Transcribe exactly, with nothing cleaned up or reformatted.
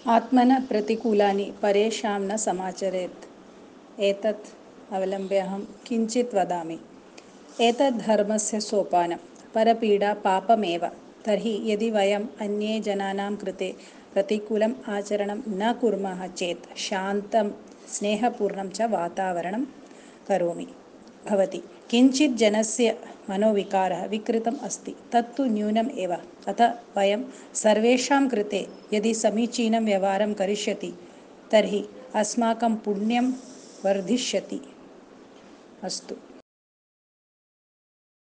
आत्मनः प्रतिकूलानि परेषां न समाचरेत्। एतत् अवलम्ब्य अहं किञ्चित् वदामि। एतत् धर्मस्य सोपानं। परपीडा पापमेव। तर्हि यदि वयम् अन्ये जनानां कृते प्रतिकूलम् आचरणं न कुर्मः चेत् शान्तं स्नेहपूर्णं च वातावरणं करोमि भवति। किञ्चित् जनस्य मनोविकारः विकृतम् अस्ति, तत्तु न्यूनम् एव। अतः वयं सर्वेषां कृते यदि समीचीनं व्यवहारं करिष्यति तर्हि अस्माकं पुण्यं वर्धिष्यति। अस्तु।